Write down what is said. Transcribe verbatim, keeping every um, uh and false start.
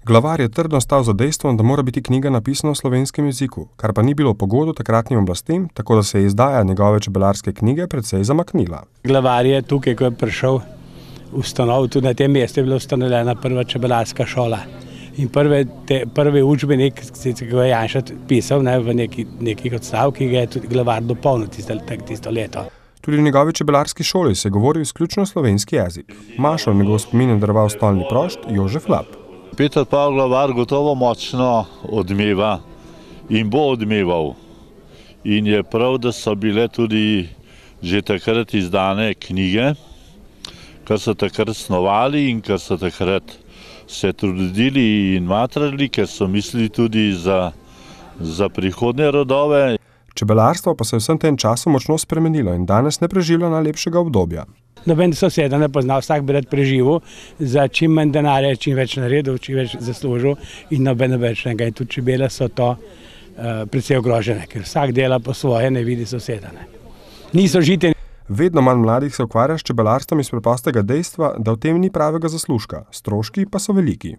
Glavar je trdno stal za dejstvom, da mora biti knjiga napisana v slovenskem jeziku, kar pa ni bilo pogodo takratnim oblastem, tako da se je izdaja njegove čebelarske knjige precej zamaknila. Glavar je tukaj, ko je prišel, ustanovil, tudi na tem mestu je bila ustanovljena prva čebelarska šola. In prve, te, prvi učbenik, ki ga je Janša pisal, ne, v neki, nekih odstavkih, ga je tudi Glavar dopolnil tisto, tisto leto. Tudi v njegovi čebelarski šoli se je govoril izključno slovenski jezik. Mašo v njegov spomin je daroval stolni prošt Jožef Lap. Peter Pavel Glavar gotovo močno odmeva in bo odmeval. In je prav, da so bile tudi že takrat izdane knjige, kar so takrat snovali in kar so takrat se trudili in matrali, ker so mislili tudi za, za prihodnje rodove. Čebelarstvo pa se je vsem tem času močno spremenilo in danes ne preživlja najlepšega obdobja. Noben soseda ne pozna, vsak bi rad preživel, za čim manj denarja, čim več naredil, čim več zaslužil in noben več ne. In tudi čebele so to uh, precej ogrožene, ker vsak dela po svoje, ne vidi soseda. Ne. Niso žite. Vedno manj mladih se ukvarja s čebelarstvom iz preprostega dejstva, da v tem ni pravega zaslužka, stroški pa so veliki.